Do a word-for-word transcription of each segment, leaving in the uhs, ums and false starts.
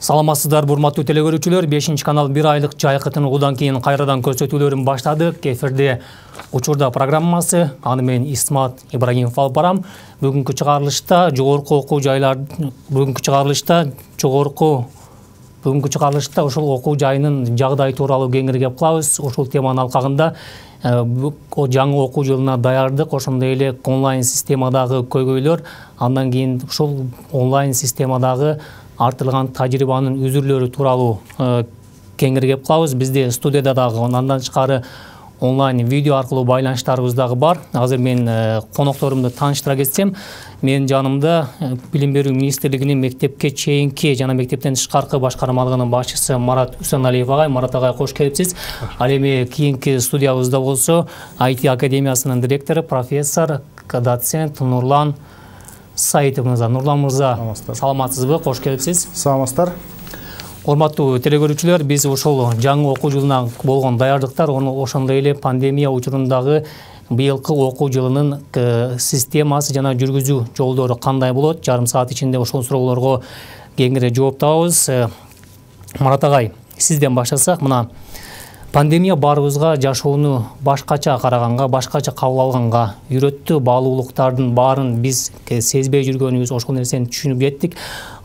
Саламатсыздар, урматтуу телекөрүүчүлөр. бешинчи канал бир айлык жайкытын угуудан кийин кайрадан көрсөтүүлөрүн баштадык. Эфирде учурда программасы. Аны мен Исмат Ибрагимов алып барам. Бүгүнкү чыгарылышта жогорку окуу жайлар бүгүнкү чыгарылышта жогорку бүгүнкү чыгарылышта ошол окуу жайынын жагдайы тууралуу кеңири кеп кылабыз. Ошол теманын алкагында жаңы окуу жылына даярдык, ошондой эле онлайн системадагы көйгөйлөр, андан кийин ушул онлайн системадагы артылган тажрыйбанын үзүрлөрү тууралуу кеңири кеп кылабыз. Бизде студияда дагы андан тышкары онлайн видео аркылуу байланыштарыбыз дагы бар. Азыр мен конокторумду тааныштыра кетсем, менин жанымда Билим берүү министрлигинин мектепке чейинки жана мектептен тышкаркы башкармалыгынын башчысы Марат Усаналиев агай. Марат агай, кош келипсиз. Ал эми кийинки студиябызда болсо ай ти академиясынын директору, профессор, доцент Нурлан Саитов мырза. Нурлан мырза, саламатсызбы? Кош келипсиз. Саламатсыздар. Урматтуу телекөрүүчүлөр, биз ошол жаңы окуу жылына болгон даярдыктар, ошондой эле пандемия учурундагы быйылкы окуу жылынын системасы жана жүргүзүү жолдору кандай болот? Жарым саат ичинде ошол суроолорго кеңири жооп табабыз. Марат агай, сизден баштасак, мына пандемия баарыбызга жашоону башкача караганга, башкача кабыл алганга үйрөттү. Баалуулуктардын баарын биз сезбей жүргөнүбүз, ошол нерсени түшүнүп кеттик.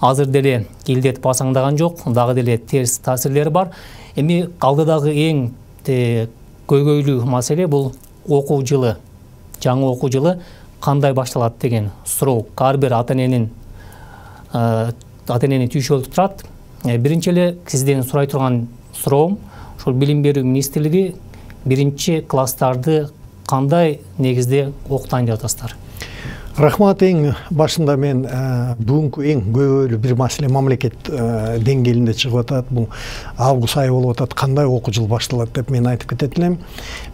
Азыр деле илдет басаңдаган жок, дагы деле терс таасирлери бар. Эми алдыдагы эң көйгөйлүү маселе бул окуу жылы, жаңы окуу жылы кандай башталат деген суроо ар бир ата эненин ата энени түйшөлтүп турат. Биринчи эле сизден сурай турган суроом, ошол Билим берүү министрлиги биринчи класстарды кандай негизде окутайын деп атасыздар? Рахмат. Эң башында мен бүгүнкү эң көйгөйлүү бир маселе мамлекет деңгээлинде чыгып атат. Бул август айы болуп атат. Кандай окуу жыл башталат деп мен айтып кетет элем.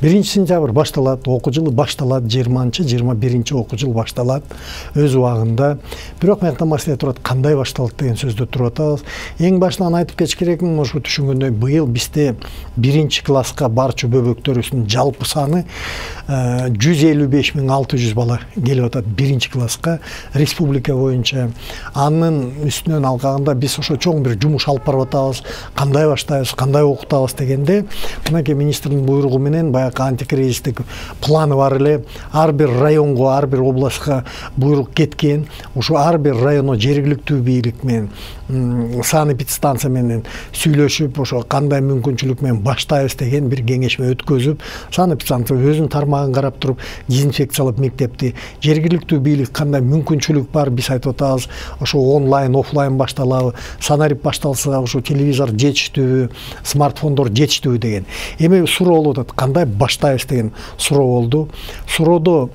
биринчи сентябрь башталат, окуу жылы башталат, жыйырманчы жыйырма биринчи окуу жыл башталат өз убагында. Бирок мыякта маселе турат, кандай башталат деген сөздө туруп атабыз. Эң башынан айтып кетиш керекмин, ошо түшүнгөндөй быйыл бизде биринчи класска барчу бөбөктөрүбүздүн жалпы саны жүз элүү беш миң алты жүз бала келип атат биринчи класска республика боюнча. Анын үстүнөн алганда биз ошо чоң бир жумуш алып барып атабыз. Кандай баштайбыз, кандай окутабыз дегенде, мынакей министрдин буйругу менен баягы антикризистик планы бар эле. Ар бир районго, ар бир областка буйрук кеткен. Ошо ар бир районо жергиликтүү бийлик менен, санэпидстанция менен сүйлөшүп, ошо кандай мүмкүнчүлүк менен баштайбыз деген бир кеңешме өткөзүп, санэпидстанция өзүнүн тармагын карап туруп дезинфекциялап мектепти, жергиликтүү бийлик кандай мүмкүнчүлүк бар, биз айтып атабыз, ошо онлайн, офлайн башталабы, санарип башталса ошо телевизор жетиштүүбү, смартфондор жетиштүүбү деген. Эми суроо болуп атат, кандай баштайбыз деген суроо болду. Суроодо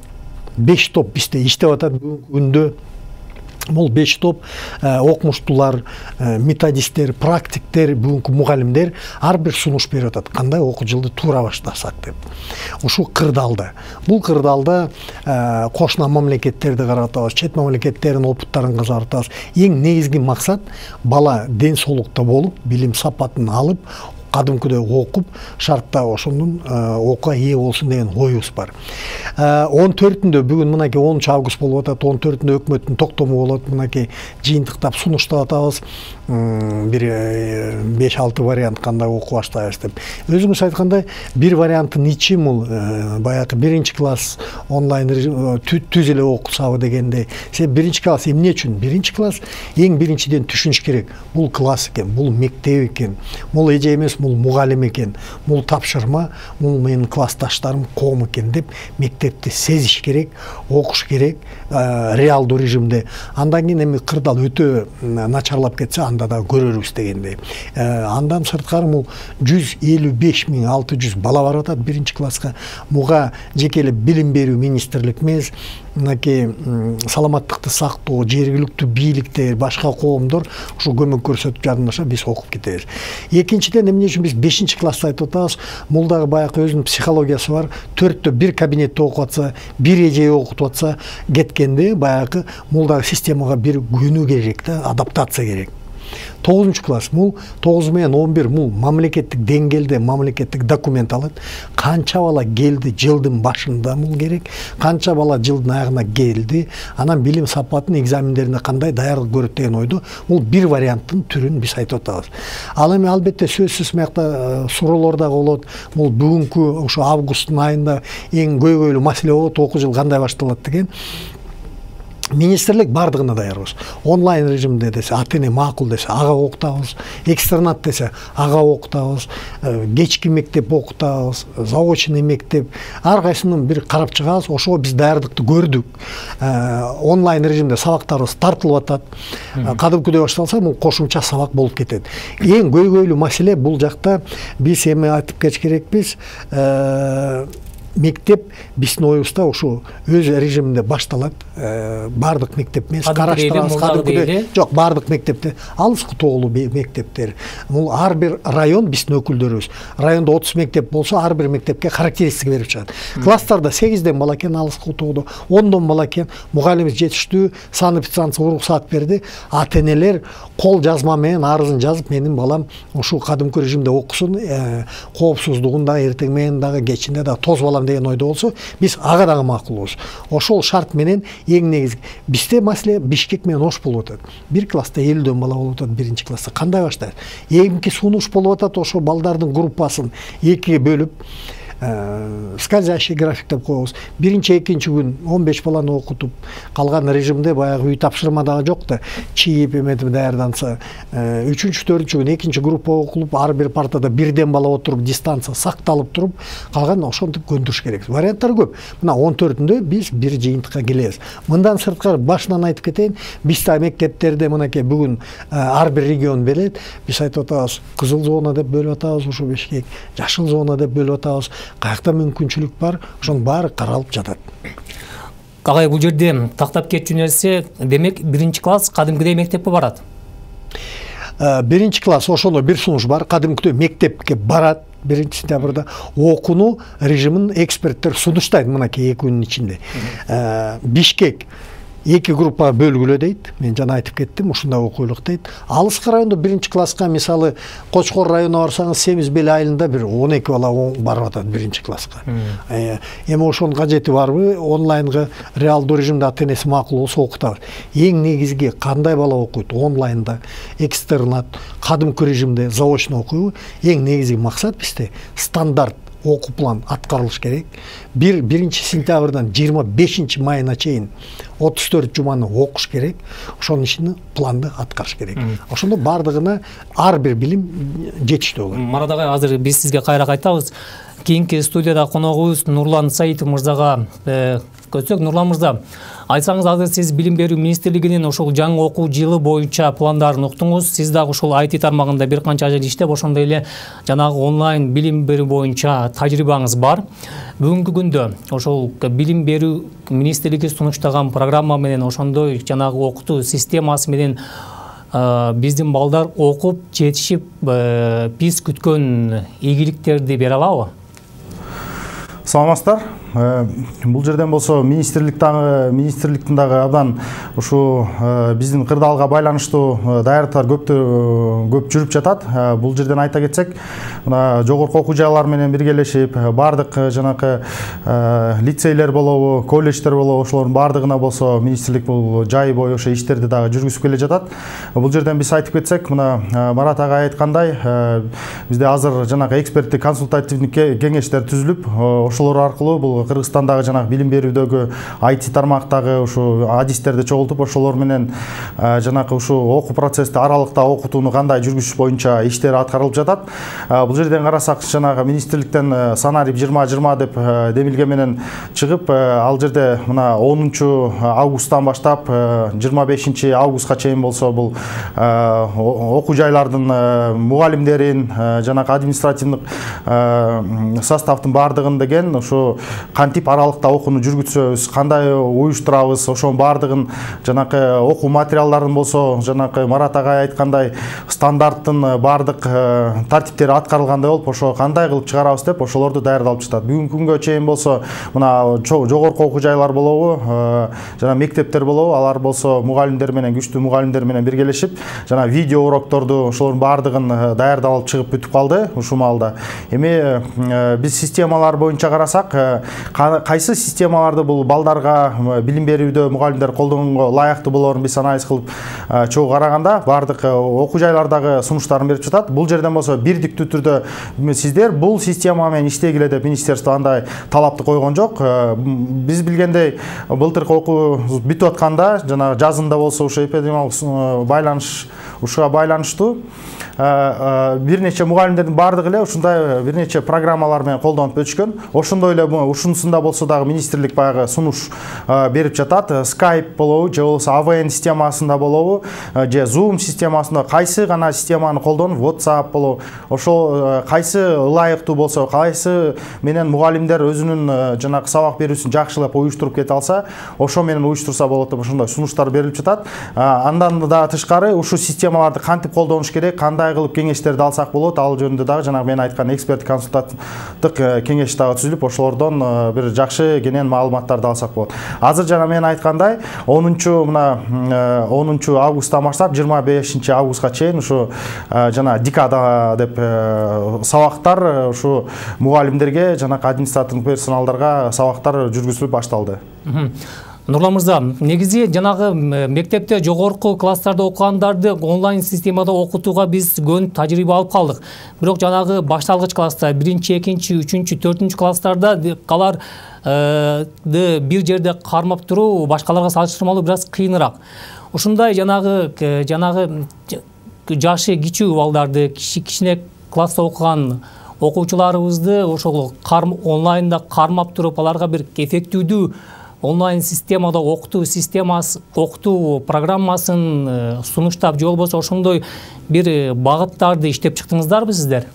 беш топ бизде иштеп атат бүгүнкү күндө. Бул беш топ окумуштуулар, методисттер, практиктер, бүгүнкү мугалимдер ар бир сунуш берип атат, кандай окуу жылды туура баштасак деп. Ушул кырдаалда. Бул кырдаалда кошуна мамлекеттерди карап атабыз, чет мамлекеттердин опыттарын карап атабыз. Эң негизги максат бала ден соолукта болуп, билим сапатын алып, кадымкыдай окуп, шартта ошонун окууга ээ болсун деген оюбуз бар. он төртүндө бүгүн мынакей онунчу август болуп атат, он төртүндө өкмөттүн токтому болот, мынакей жыйынтыктап сунуштап атабыз. Бир беш алты вариант кандай окуу баштайбыз деп. Өзүңүз айткандай, бир варианттын ичи бул баягы биринчи класс онлайн түз эле окусабы дегенде. Сен биринчи класс эмне үчүн? Биринчи класс эң биринчиден түшүнүш керек. Бул класс экен, бул мектеп экен, бул эже эмес, бул мугалим экен, бул тапшырма, бул менин классташтарым, коом экен деп мектепти сезиш керек, окуш керек реалдуу режимде. Андан кийин эми кырдаал өтө начарлап кетсе, анда да көрөрбүз дегендей. Андан сырткары бул жүз элүү беш миң алты жүз бала барып атат биринчи класска. Буга жеке эле Билим берүү министрлик эмес, мынакей саламаттыкты сактоо, жергиликтүү бийликтер, башка коомдор ушу көмөк көрсөтүп жардамдашса, биз окуп кетебиз. Экинчиден, эмне үчүн биз бешинчи классты айтып атабыз? Бул дагы баягы өзүнүн психологиясы бар. төрттө бир кабинетте окуп атса, бир эже окутуп атса, кеткенде баягы бул дагы системага бир көнүү керек да, адаптация керек. тогузунчу класс бул тогуз менен он бир бул мамлекеттик деңгээлде мамлекеттик документ алат. Канча бала келди жылдын башында бул керек, канча бала жылдын аягына келди, анан билим сапатын экзамендерине кандай даярдык көрөт деген ойду бул бир варианттын түрүн биз айтып атабыз. Ал эми албетте сөзсүз мыякта суроолор да болот. Бул бүгүнкү ошо августтун айында эң көйгөйлүү маселе болот, окуу жылы кандай башталат деген. Министрлик бардыгына даярбыз. Онлайн режимде десе, ата-эне макул десе, ага окутабыз. Экстернат десе, ага окутабыз. Кечки мектеп окутабыз, заочный мектеп. Ар кайсынын бир карап чыгабыз. Ошого биз даярдыкты көрдүк. Онлайн режимде сабактарыбыз тартылып атат. Кадымкыдай башталса, бул кошумча сабак болуп кетет. Эң көйгөйлүү маселе бул жакта биз эми айтып кетиш керекпиз. Мектеп биздин оюбузда ошо өз режиминде башталат. Бардык мектеп эмес, караштырабыз, кадымкыдай. Жок, бардык мектепте, алыскы тоолуу мектептер. Бул ар бир район биздин өкүлдөрүбүз. Райондо отуз мектеп болсо, ар бир мектепке характеристика берип чыгат. Класстарда сегизден бала экен, алыскы тоодо, ондон бала экен, мугалимибиз жетиштүү, санэпидстанция уруксаат берди. Ата-энелер кол жазма менен арызын жазып, менин балам ушул кадымкы режимде окусун, коопсуздугун да эртең менен дагы, кечинде дагы тоз балам деген ойдо болсо, биз ага дагы макулбуз. Ошол шарт менен эң негизги бизде маселе Бишкек менен Ош болуп атат. Бир класста элүүдөн бала болуп атат, биринчи класста. Кандай баштайт? Эмки сунуш болуп атат, ошо балдардын группасын экиге бөлүп, скользящий график деп коебуз. Биринчи, экинчи күн он беш баланы окутуп, калган режимде баягы үй тапшырма дагы жок да, чийип эметип даярданса, үчүнчү, төртүнчү күн экинчи группа окулуп, ар бир партада бирден бала отуруп, дистанция сакталып туруп, калган ошентип көндүрүш керек. Варианттар көп. Мына он төртүндө биз бир жыйынтыкка келебиз. Мындан сырткары башынан айтып кетейин, бизде мектептерде мынакей бүгүн ар бир регион берет. Биз айтып атабыз, кызыл зона деп бөлүп атабыз ушу Бишкек, жашыл зона деп бөлүп атабыз. Каякта мүмкүнчүлүк бар, ошонун баары каралып жатат. Агай, бул жерде тактап кетчү нерсе, демек биринчи класс кадимкидей мектепке барат. Биринчи класс ошондой бир сунуш бар, кадимкидей мектепке барат. Биринчи сентябрда окууну режимин эксперттер сунуштайт мынакей эки күнүн ичинде. Бишкек эки группага бөлгүлө дейт. Мен жана айтып кеттим, ушундай окуйлук дейт. Алыскы райондо биринчи класска, мисалы, Кочкор районуна барсаңыз, Семиз Бел айылында бир он эки бала барып атат биринчи класска. Эми ошонун кажети барбы? Онлайнга реалдуу режимде ата-энеси макул болсо окутабыз. Эң негизги кандай бала окуйт? Онлайнда, экстернат, кадымкы режимде, заочно окуйбу? Эң негизги максат бизде стандарт окуу план аткарылыш керек. Бир биринчи сентябрдан жыйырма бешинчи майына чейин отуз төрт жуманы окуш керек. Ошонун ичинде планды аткарыш керек. Ошондо бардыгына ар бир билим жетиштүү болот. Марат агай, азыр биз сизге кайра кайтабыз. Кийинки студияда коногубуз Нурлан Саитов мырзага көтсөк. Нурлан мырза, айтсаңыз, азыр сиз билим берүү министрлигинин ошол жаңы окуу жылы боюнча пландарын уктуңуз. Сиз дагы ушул ай ти тармагында бир канча жыл иштеп, ошондой эле жанагы онлайн билим берүү боюнча тажрыйбаңыз бар. Бүгүнкү күндө ошол билим берүү министрлиги сунуштаган программа менен, ошондой жанагы окутуу системасы менен биздин балдар окуп жетишип, биз күткөн ийгиликтерди бере алабы? Саламатсыздар. Бул жерден болсо министрликтагы министрликтин дагы абдан ушу биздин кырдаалга байланыштуу даярдыктар көп көп жүрүп жатат. Бул жерден айта кетсек, мына жогорку окуу жайлар менен биргелешип, бардык жанакы лицейлер болобу, колледждер болобу, ошолордун бардыгына болсо министрлик бул жай бою ошо иштерди дагы жүргүзүп келе жатат. Бул жерден биз айтып кетсек, мына Марат агай айткандай, бизде азыр жанакы эксперттик консультативдик кеңештер түзүлүп, ошолор аркылуу бул Кыргызстандагы жанагы билим берүүдөгү ай ти тармактагы ушу адистерди чогултуп, ошолор менен жанакы ушу окуу процессти аралыкта окутууну кандай жүргүзүш боюнча иштер аткарылып жатат. Бул жерден карасак, жанагы министрликтен сценарий жыйырма жыйырма деп демилге менен чыгып, ал жерде мына онунчу августтан баштап жыйырма бешинчи августка чейин болсо бул окуу жайлардын мугалимдерин, жанагы административдик составдын бардыгын деген менен ушу кантип аралыкта окууну жүргүзөбүз, кандай уюштурабыз, ошонун баардыгын жанакы окуу материалдарын болсо, жанакы Марат агай айткандай стандарттын баардык тартиптери аткарылгандай болуп, ошо кандай кылып чыгарабыз деп ошолорду даярдалып жатат. Бүгүнкү күнгө чейин болсо мына жогорку окуу жайлар болобу, жана мектептер болобу, алар болсо мугалимдер менен, күчтүү мугалимдер менен биргелешип, жана видео урокторду ошолордун баардыгын даярдалып чыгып бүтүп калды ушул маалда. Эми биз системалар боюнча карасак, кайсы системаларды бул балдарга билим берүүдө мугалимдер колдонгонго лайыктуу болоорун биз анализ кылып чогуу караганда, баардык окуу жайлардагы сунуштарын берип жатат. Бул жерден болсо бирдиктүү түрдө сиздер бул система менен иштегиле деп министерство андай талапты койгон жок. Биз билгендей былтыркы окуу бүтүп атканда, жана жазында болсо ушу эпидемиологиялык байланыш ушуга байланыштуу бир нече мугалимдердин баардыгы эле ушундай бир нече программалар менен колдонуп өтүшкөн. Ошондой эле ушунусунда болсо дагы министрлик баягы сунуш берип жатат. Skype болобу, же болбосо эй ви эн системасында болобу, же Zoom системасында кайсы гана системаны колдонуп, WhatsApp болобу, ошол кайсы ылайыктуу болсо, кайсы менен мугалимдер өзүнүн жанагы сабак берүүсүн жакшылап уюштуруп кете алса, ошо менен уюштурса болот деп ошондой сунуштар берилип жатат. Андан да тышкары ушу системаларды кантип колдонуш керек, кандай кылып кеңештерди алсак болот, ал жөнүндө дагы жанагы мен айткан эксперт консультативдык кеңеш дагы түзүлүп, ошолордон бир жакшы кенен маалыматтарды алсак болот. Азыр жана мен айткандай онунчу мына онунчу августтан баштап жыйырма бешинчи августка чейин ушу жана декада деп сабактар ушу мугалимдерге, жанагы административдик персоналдарга сабактар жүргүзүлүп башталды. Нурлан мырза, негизи жанагы мектепте жогорку класстарда окугандарды онлайн системада окутууга биз көнүп тажрыйба алып калдык. Бирок жанагы башталгыч класста, биринчи, экинчи, үчүнчү, төртүнчү класстарда алар бир жерде кармап туруу башкаларга салыштырмалуу бир аз кыйыныраак. Ушундай жанагы жанагы жашы кичүү балдарды, кичине класста окуган окуучуларыбызды ошол онлайнда кармап туруп, аларга бир эффективдүү онлайн системада окутуу системасы, окутуу программасын сунуштап, же болбосо ошондой бир багыттарды иштеп чыктыңыздарбы сиздер?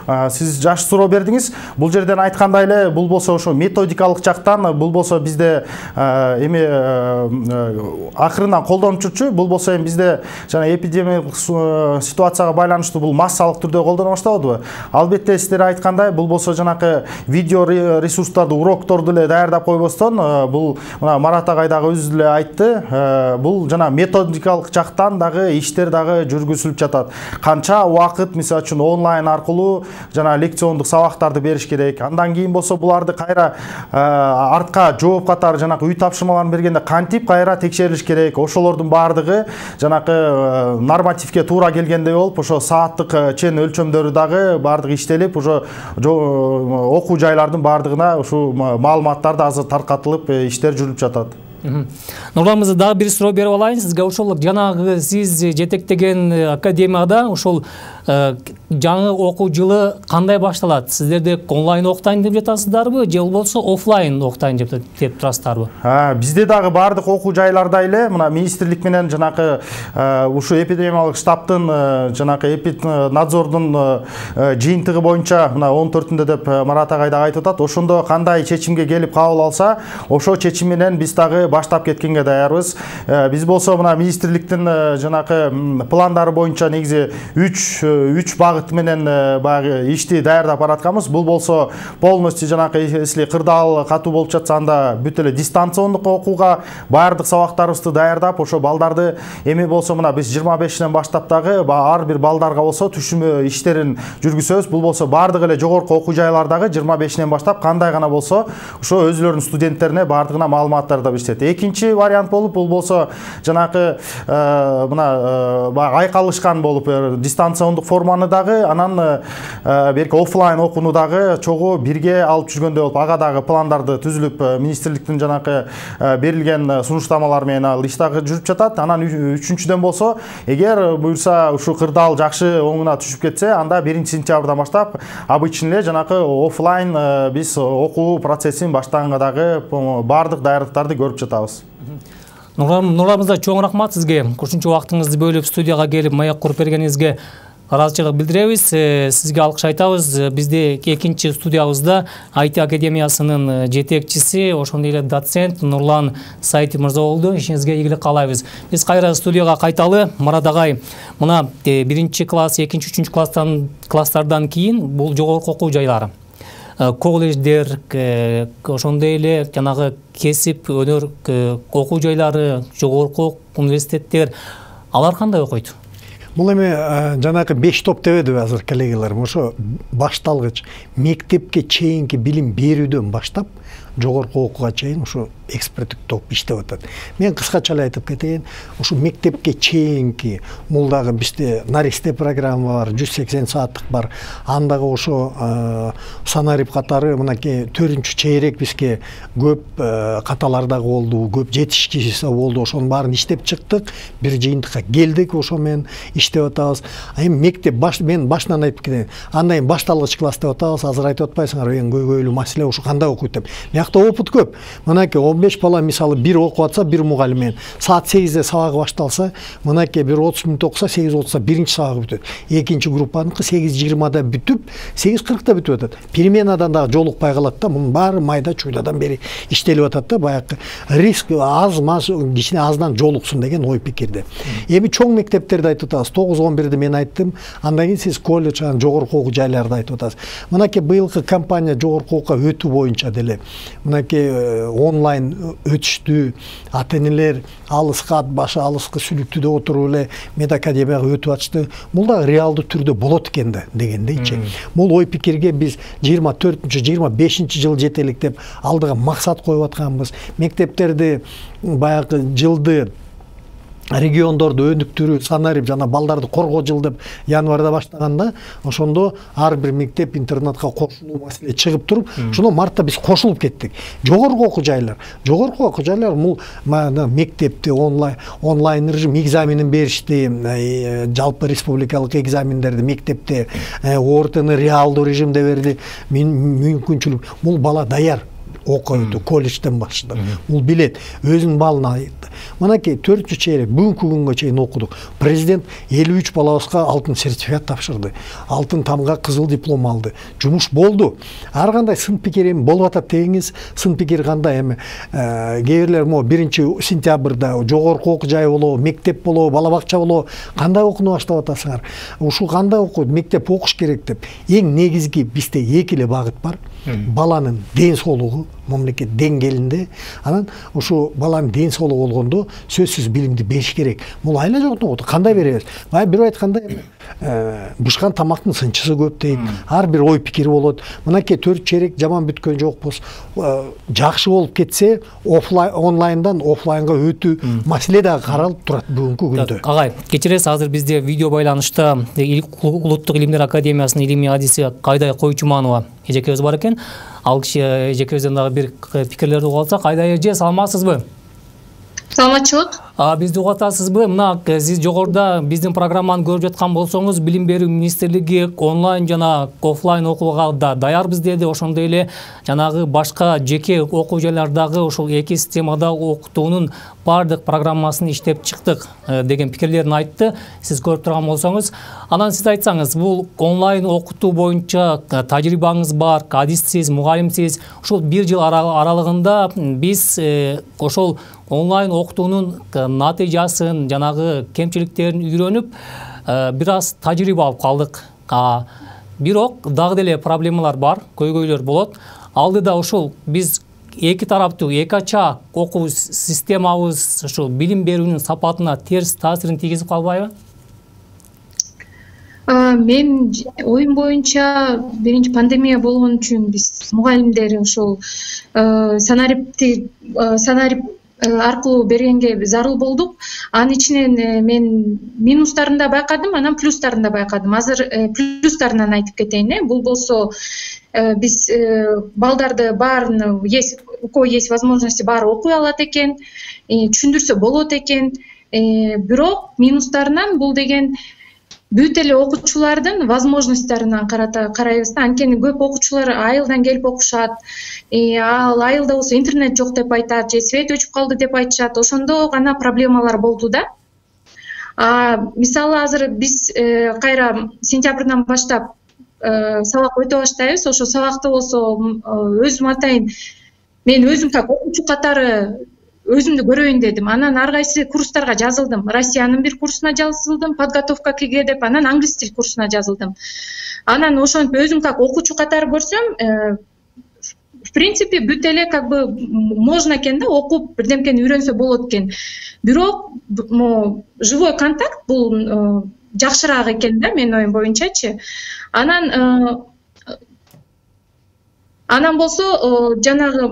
Сиз жакшы суроо бердиңиз. Бул жерден айткандай эле, бул болсо ошо методикалык жактан, бул болсо бизде эми акырынан колдонуп жүрчү. Бул болсо эми бизде жана эпидемиялык ситуацияга байланыштуу бул массалык түрдө колдоно баштабадыбы? Албетте сиздер айткандай, бул болсо жанакы видео ресурстарды, урокторду эле даярдап койбостон, бул мына Марат агай дагы өзү эле айтты, бул жана методикалык жактан дагы иштер дагы жүргүзүлүп жатат. Канча убакыт, мисалы үчүн онлайн аркылуу жана лекциондук сабактарды бериш керек. Андан кийин болсо буларды кайра артка жооп катары жанакы үй тапшырмаларын бергенде кантип кайра текшерилиш керек. Ошолордун баардыгы жанакы нормативке туура келгендей болуп, ошо сааттык чен өлчөмдөрү дагы баардыгы иштелип, ошо окуу жайлардын баардыгына ушул маалыматтар да азыр таркатылып, иштер жүрүп жатат. Нурлан мырза, дагы бир суроо берип алайын сизге. Ошол жанагы сиз жетектеген академияда ошол жаңы окуу жылы кандай башталат? Сиздерде онлайн окутайын деп жатасыздарбы, же болбосо офлайн окутайын деп турасыздарбы? Бизде дагы баардык окуу жайларда эле мына министрлик менен жанакы ушу эпидемиялык штабтын жанакы эпиднадзордун жыйынтыгы боюнча мына он төртүндө деп Марат агай дагы айтып атат. Ошондо кандай чечимге келип кабыл алса, ошо чечим менен биз дагы баштап кеткенге даярбыз. Биз болсо мына министрликтин жанакы пландары боюнча негизи үч үч багыт менен баягы ишти даярдап баратканбыз. Бул болсо полностью жанакы если кырдаал катуу болуп жатса, анда бүт эле дистанциондук окууга баардык сабактарыбызды даярдап, ошо балдарды эми болсо мына биз жыйырма бешинен баштап дагы ар бир балдарга болсо түшүмө иштерин жүргүзөбүз. Бул болсо баардык эле жогорку окуу жайлардагы жыйырма бешинен баштап кандай гана болсо ошо өзүлөрүнүн студенттерине баардыгына маалыматтарды беришет. Экинчи вариант болуп, бул болсо жанакы мына айкалышкан болуп дистанциондук форманы дагы, анан берки офлайн окууну дагы чогуу бирге алып жүргөндөй болуп, ага дагы пландарды түзүлүп, министрликтин жанакы берилген сунуштамалар менен ал иш дагы жүрүп жатат. Анан үчүнчүдөн болсо, эгер буюрса ушу кырдаал жакшы оңуна түшүп кетсе, анда биринчи сентябрдан баштап обычный эле жанакы офлайн биз окуу процессин баштаганга дагы баардык даярдыктарды көрүп жатабыз. Нурлан мырза, чоң рахмат сизге. Кошумча убактыңызды бөлүп студияга келип маяк куруп бергениңизге. ыраазычылык билдиребиз. Сизге алкыш айтабыз. Бизде экинчи студиябызда ай ти академиясынын жетекчиси, ошондой эле доцент Нурлан Саитов мырза болду. Ишиңизге ийгилик каалайбыз. Биз кайра студияга кайталы. Мурат агай, мына биринчи класс, экинчи, үчүнчү класстан класстардан кийин бул жогорку окуу жайлары, колледждер, ошондой эле жанагы кесип, өнөр окуу жайлары, жогорку университеттер, алар кандай окуйт? Бул эми жанагы беш топ дебедиби азыр коллегаларым, ошо башталгыч мектепке чейинки билим берүүдөн баштап жогорку окууга чейин ушу эксперттик топ иштеп атат. Мен кыскача эле айтып кетейин, ушу мектепке чейинки бул дагы бизде наристе программа бар, жүз сексен сааттык бар. Андагы ошо санарип катары мынакей төртүнчү чейрек бизге көп каталардагы болду, көп жетишкичиси болду. Ошонун баарын иштеп чыктык, бир жыйынтыкка келдик, ошо менен иштеп атабыз. Эми мектеп баш мен башынан айтып кетейин. Андан кийин башталгыч класс деп атабыз. Азыр айтып атпайсыңарбы, эң көйгөйлүү маселе ушу кандай окуйт деп. Биякта опыт көп. Мынакей он беш бала мисалы бир окуп атса, бир мугалим менен саат сегизде сабагы башталса, мынакей бир отуз мүнөт окуса, сегиз отузда биринчи сабагы бүтөт. Экинчи группаныкы сегиз жыйырмада бүтүп, сегиз кыркта бүтүп атат. Переменадан дагы жолукпай калат да, мунун баары майда чуйдадан бери иштелип атат да, баягы риск аз маз кичине аздан жолуксун деген ой пикирде. Эми чоң мектептерди айтып атабыз. тогуз он бирди мен айттым. Андан кийин сиз колледж, жогорку окуу жайларды айтып атасыз. Мынакей быйылкы кампания жогорку окууга өтүү боюнча деле мынакей онлайн өтүштү, ата-энелер алыска, башы алыска сүлүктүдө отуруп эле медакадемияга өтүп атышты. Бул да реалдуу түрдө болот экен да дегендейчи. Бул ой пикирге биз жыйырма төртүнчү жыйырма бешинчи жыл жетелик деп алдыга максат коюп атканбыз. Мектептерди баягы жылды региондорду өнүктүрүү, санарип жана балдарды коргоо жыл деп январда баштаганда, ошондо ар бир мектеп интернатка кошулуу маселе чыгып туруп, ошондо мартта биз кошулуп кеттик. Жогорку окуу жайлар, жогорку окуу жайлар бул мектепти онлайн онлайн режим экзаменин беришти, жалпы республикалык экзамендерди мектепте, ортону реалдуу режимде берди. Мүмкүнчүлүк бул бала даяр окуйду, колледжден баштап. Бул билет, өзүнүн балына айтты. Мынакей төртүнчү чейрек бүгүнкү күнгө чейин окудук. Президент элүү үч балабызга алтын сертификат тапшырды. Алтын тамга кызыл диплом алды. Жумуш болду. Ар кандай сын пикир эми болуп атат дегиңиз, сын пикир кандай эми кээ бирлер мо биринчи сентябрда жогорку окуу жай болобу, мектеп болобу, бала бакча болобу, кандай окууну баштап атасыңар? Ушул кандай окуу, мектеп окуш керек деп. Эң негизги бизде эки эле багыт бар. Баланын ден соолугу мамлекет деңгээлинде, анан ушу баланын ден соолугу болгондо сөзсүз билимди бериш керек. Бул айла жоктун кандай беребиз? Бая бир айтканда бышкан тамактын сынчысы көп дейт. Ар бир ой пикири болот. Мынакей төрт чейрек жаман бүткөн жокпуз. Жакшы болуп кетсе, офлайн онлайндан офлайнга өтүү маселе дагы каралып турат бүгүнкү күндө. Агай, кечиресиз, азыр бизде видео байланышта Улуттук илимдер академиясынын илимий адиси Кайдай Койчуманова эжекебиз бар экен. Ал киши эжекебизден дагы бир пикирлерди угуп алсак. Кайдай эже, саламатсызбы? Саламатчылык. А бизди угуп атасызбы? Мына сиз жогоруда биздин программаны көрүп жаткан болсоңуз, Билим берүү министрлиги онлайн жана офлайн окууга да даярбыз деди. Ошондой эле жанагы башка жеке окуу жайлардагы ушул эки системада окутуунун бардык программасын иштеп чыктык деген пикирлерин айтты. Сиз көрүп турган болсоңуз, анан сиз айтсаңыз, бул онлайн окутуу боюнча тажрыйбаңыз бар, адиссиз, мугалимсиз. Ушул бир жыл аралыгында биз ошол онлайн окутуунун натыйжасын, жанагы кемчиликтерин үйрөнүп, бир аз тажрыйба алып калдык. Бирок дагы деле проблемалар бар, көйгөйлөр болот. Алдыда ушул биз эки тараптуу, эки ача окуу системабыз ушул билим берүүнүн сапатына терс таасирин тийгизип калбайбы? Мен оюм боюнча биринчи пандемия болгон үчүн биз мугалимдер ушул санарипти санарип аркылуу бергенге зарыл болдук. Анын ичинен мен минустарын да байкадым, анан плюстарын да байкадым. Азыр плюстарынан айтып кетейин. Бул болсо биз балдарды баарын есть, у кого есть возможности баары окуй алат экен, түшүндүрсө болот экен. Бирок минустарынан бул деген бүт эле окуучулардын возможностьтарынан карайбыз да. Анткени көп окуучулар айылдан келип окушат. Ал айылда болсо интернет жок деп айтат, же свет өчүп калды деп айтышат. Ошондо гана проблемалар болду да. А мисалы азыр биз кайра сентябрдан баштап сабак өтө баштайбыз. Ошо сабакты болсо өзүм атайын мен өзүм как окуучу катары өзүмдү көрөйүн дедим. Анан ар кайсы курстарга жазылдым. Россиянын бир курсуна жазылдым, подготовка к ЕГЭ деп, анан англис тил курсуна жазылдым. Анан ошентип өзүм как окуучу катары көрсөм, в принципе бүт эле как бы можно экен да, окуп бирдемкени үйрөнсө болот экен. Бирок живой контакт бул жакшыраак экен да, менин оюм боюнчачы. Анан анан болсо жанагы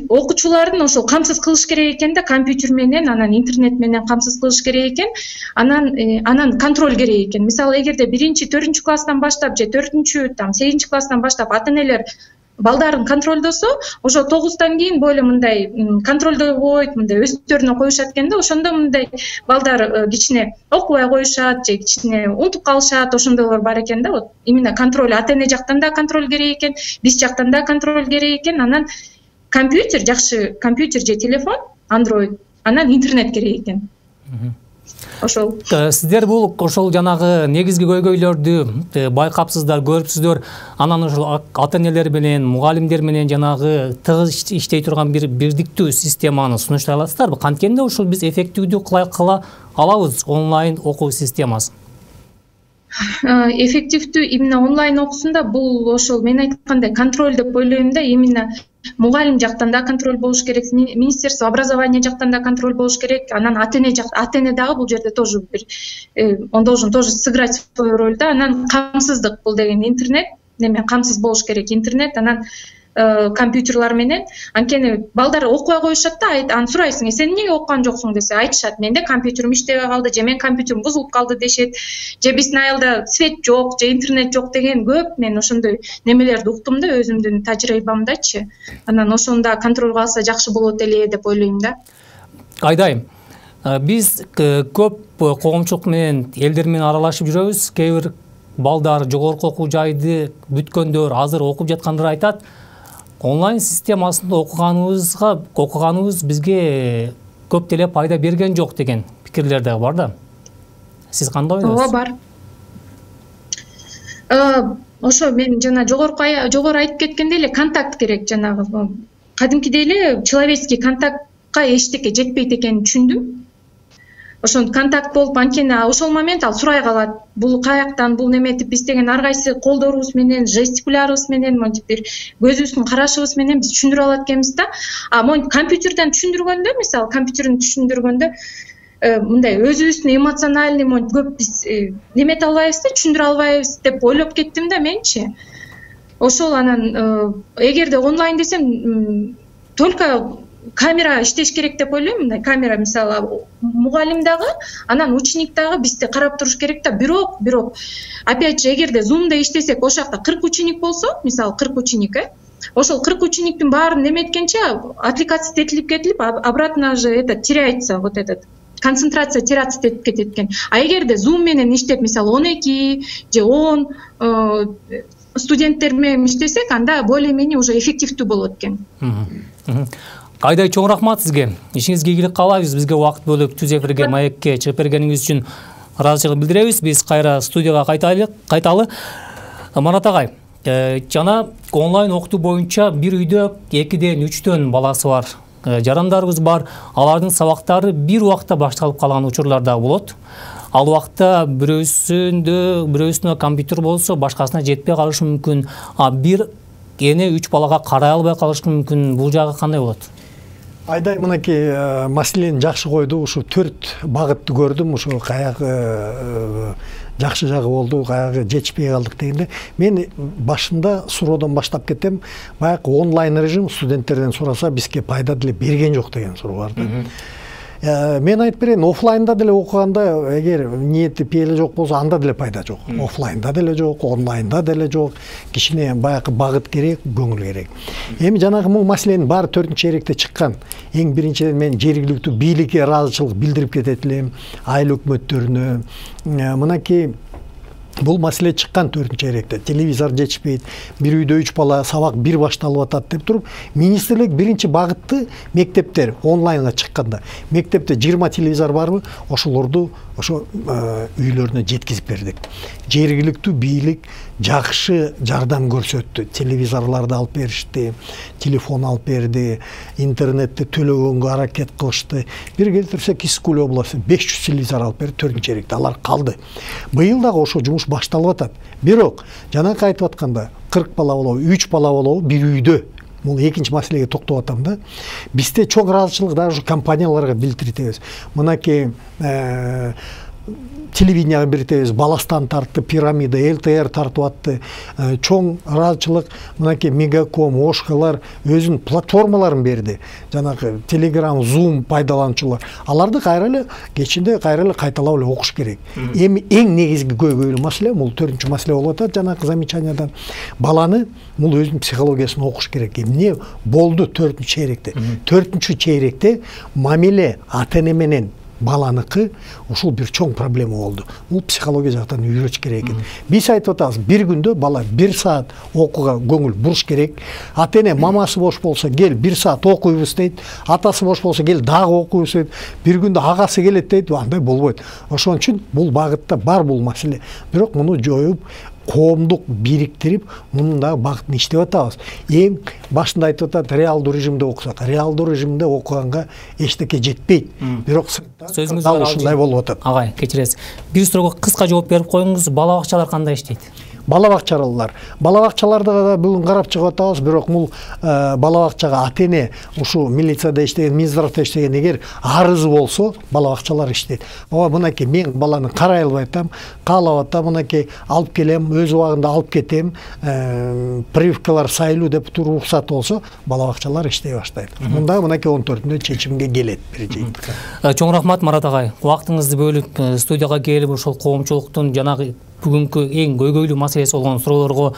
окуучулардын ошо камсыз кылыш керек экен да, компьютер менен, анан интернет менен камсыз кылыш керек экен. Анан анан контроль керек экен. Мисалы эгерде биринчи, төртүнчү класстан баштап же төртүнчү, там сегизинчи класстан баштап ата-энелер балдарын контролдосо, ошо тогуздан кийин бойло мындай контролдобойт, мындай өздөрүнө коюшат экен да, ошондо мындай балдар кичине окубай коюшат же кичине унутуп калышат, ошондойлор бар экен да. Вот именно контроль ата-эне жактан да контроль керек экен, биз жактан да контроль керек экен. Анан компьютер, жакшы компьютер же телефон, Android, анан интернет керек экен. Ошол. Сиздер бул ошол жанагы негизги көйгөйлөрдү байкапсыздар, көрүпсүздөр. Анан ошол ата-энелер менен, мугалимдер менен жанагы тыгыз иштей турган бир бирдиктүү системаны сунуштай аласыздарбы? Канткенде ошол биз эффективдүү кыла алабыз онлайн окуу системасын? Эффективдүү именно онлайн окуусунда бул ошол мен айткандай контроль деп ойлойм да. Именно мугалим жактан да контроль болуш керек, министерство образования жактан да контроль болуш керек. Анан ата-эне жак, ата-эне дагы бул жерде тоже бир он должен тоже сыграть свою роль да. Анан камсыздык бул деген интернет, неме камсыз болуш керек интернет, анан компьютерлар менен. Анткени балдар окубай коюшат да, анан сурайсың, сен эмнеге окуган жоксуң десе, айтышат, менде компьютерим иштебей калды, же менин компьютерим бузулуп калды дешет, же биздин айылда свет жок, же интернет жок деген көп мен ошондой немелерди уктум да өзүмдүн тажрыйбамдачы. Анан ошону да контролго алса жакшы болот эле деп ойлойм да. Айдайым, биз көп коомчулук менен, элдер менен аралашып жүрөбүз. Кээ бир балдар жогорку окуу жайды бүткөндөр, азыр окуп жаткандар айтат, онлайн системасында окуганыбызга окуганыбыз бизге көп деле пайда берген жок деген пикирлер да бар да. Сиз кандай ойлойсуз? Ооба, бар. Ошо мен жана жогорку жогору айтып кеткендей эле контакт керек, жанагы кадимкидей эле человеческий контактка эчтеке жетпейт экенин түшүндүм. Ошон контакт болуп, анткени ошол момент ал сурай калат. Бул каяктан, бул неметип биз деген ар кайсы колдорубуз менен, жестикулярыбыз менен, монтип бир көзүбүздүн карашыбыз менен биз түшүндүрө алат экенбиз да. А монтип компьютерден түшүндүргөндө, мисалы компьютерден түшүндүргөндө мындай өзүбүздүн эмоциональный монтип көп биз немете албайбыз да, түшүндүрө албайбыз деп ойлоп кеттим да менчи. Ошол анан эгерде онлайн десем, только камера иштеш керек деп ойлойм. Мындай камера мисалы мугалим дагы, анан ученик дагы бизди карап туруш керек да. Бирок, бирок опять же эгерде Zoom'да иштесек, ошол жакта кырк ученик болсо, мисалы кырк ученик, э, ошол кырк учениктин баарын неметкенче отвлекаться этилип кетилип, обратно же это теряется, вот этот концентрация теряться этип кетет экен. А эгерде Zoom менен иштеп, мисалы он эки же он студенттер менен иштесек, анда более-менее уже эффективдүү болот экен. Айдай, чоң рахмат сизге. Ишиңизге ийгилик каалайбыз. Бизге убакыт бөлүп түз эфирге, маекке чыгып бергениңиз үчүн ыраазычылык билдиребиз. Биз кайра студияга кайтайлы. Кайталы. Марат агай, жана онлайн окутуу боюнча бир үйдө экиден үчтөн баласы бар жарандарыбыз бар. Алардын сабактары бир убакта башталып калган учурлар да болот. Ал убакта бирөөсүндө, бирөөсүнө компьютер болсо, башкасына жетпей калышы мүмкүн. А бир эне үч балага карай албай калышы мүмкүн. Бул жагы кандай болот? Айдай, мынакей маселени жакшы койду. Ушу төрт багытты көрдүм. Ушу каягы жакшы жагы болду, каягы жетишпей калдык дегенде. Мен башында суроодон баштап кетем. Баягы онлайн режим студенттерден сураса бизге пайда деле берген жок деген суроо бар да. Мен айтып берейин, офлайнда деле окуганда эгер ниети пейили жок болсо, анда деле пайда жок. Офлайнда деле жок, онлайнда деле жок. Кичине баягы багыт керек, көңүл керек. Эми жанагы бул маселенин баары төртүнчү чейректе чыккан. Эң биринчиден мен жергиликтүү бийликке ыраазычылык билдирип кетет элем, айыл өкмөттөрүнө. Мынакей бул маселе чыккан төртүнчү чейректе. Телевизор жетишпейт, бир үйдө үч бала, сабак бир башталып атат деп туруп, министрлик биринчи багытты мектептер онлайнга чыкканда, мектепте жыйырма телевизор барбы, ошолорду ошо үйлөрүнө жеткизип бердик. Жергиликтүү бийлик жакшы жардам көрсөттү. Телевизорлорду алып беришти, телефон алып берди, интернетти төлөгөнгө аракет кылышты. Бир келтирсек Искуль областы беш жүз телевизор алып берди төртүнчү чейректе. Алар калды. Быйыл дагы ошо жумуш башталып атат. Бирок жанакы айтып атканда кырк бала болобу, үч бала болобу бир үйдө. Бул экинчи маселеге токтоп атам да. Бизде чоң ыраазычылык дагы ушу компанияларга билдиртебиз. Мынакей телевиденияга билдиртебиз, Баластан тартты, Пирамида, эл тэ эр тартып атты. Чоң ыраазычылык мынакей Мегаком, Ошкалар өзүнүн платформаларын берди. Жанагы Telegram, Zoom пайдалануучулар. Аларды кайра эле кечинде кайра эле кайталап эле окуш керек. Эми эң негизги көйгөйлүү маселе, бул төртүнчү маселе болуп атат жанагы замечаниядан. Баланы бул өзүнүн психологиясын окуш керек. Эмне болду төртүнчү чейректе? төртүнчү чейректе мамиле ата-эне менен баланыкы ушул бир чоң проблема болду. Бул психология жактан үйрөтүш керек экен. Биз айтып атабыз, бир күндө бала бир саат окууга көңүл буруш керек. Ата-эне мамасы бош болсо, кел бир саат окуйбуз дейт. Атасы бош болсо, кел дагы окуйбуз дейт. Бир күндө агасы келет дейт. Андай болбойт. Ошон үчүн бул багытта бар бул маселе. Бирок муну жоюп, коомдук бириктирип, мунун дагы багытын иштеп атабыз. Эң башында айтып атат, реалдуу режимде окусак. Реалдуу режимде окуганга эчтеке жетпейт. Бирок сөзүңүз дал ушундай болуп атат. Агай, кечиресиз. Бир суроого кыска жооп берип коюңуз. Бала бакчалар кандай иштейт? Бала бакчалар. Бала бакчаларда да бүгүн карап чыгып атабыз, бирок бул бала бакчага ата-эне ушу милицияда иштеген, Минздравда иштеген эгер арызы болсо, бала бакчалар иштейт. Ооба, мынакей мен баланы карай албай атам, каалап атам, мынакей алып келем, өз убагында алып кетем, прививкалар сайлуу деп туруп уруксат болсо, бала бакчалар иштей баштайт. Мында мынакей он төртүндө чечимге келет бир жыйынтыкка. Чоң рахмат Марат агай. Убактыңызды бөлүп студияга келип ошол коомчулуктун жанагы бүгүнкү эң көйгөйлүү маселеси болгон суроолорго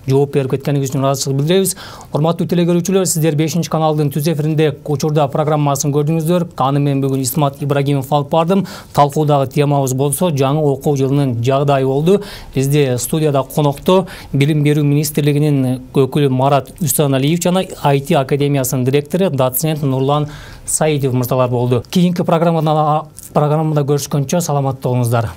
жооп берип кеткениңиз үчүн ыраазычылык билдиребиз. Урматтуу телекөрүүчүлөр, сиздер бешинчи каналдын түз эфиринде Учурда программасын көрдүңүздөр. Аны мен бүгүн Исмат Ибрагимов алып бардым. Талкуудагы темабыз болсо жаңы окуу жылынын жагдайы болду. Бизде студияда конокто Билим берүү министрлигинин өкүлү Марат Үсаналиев жана ай ти академиясынын директору доцент Нурлан Саидов мырзалар болду. Кийинки программада программада көрүшкөнчө саламатта болуңуздар.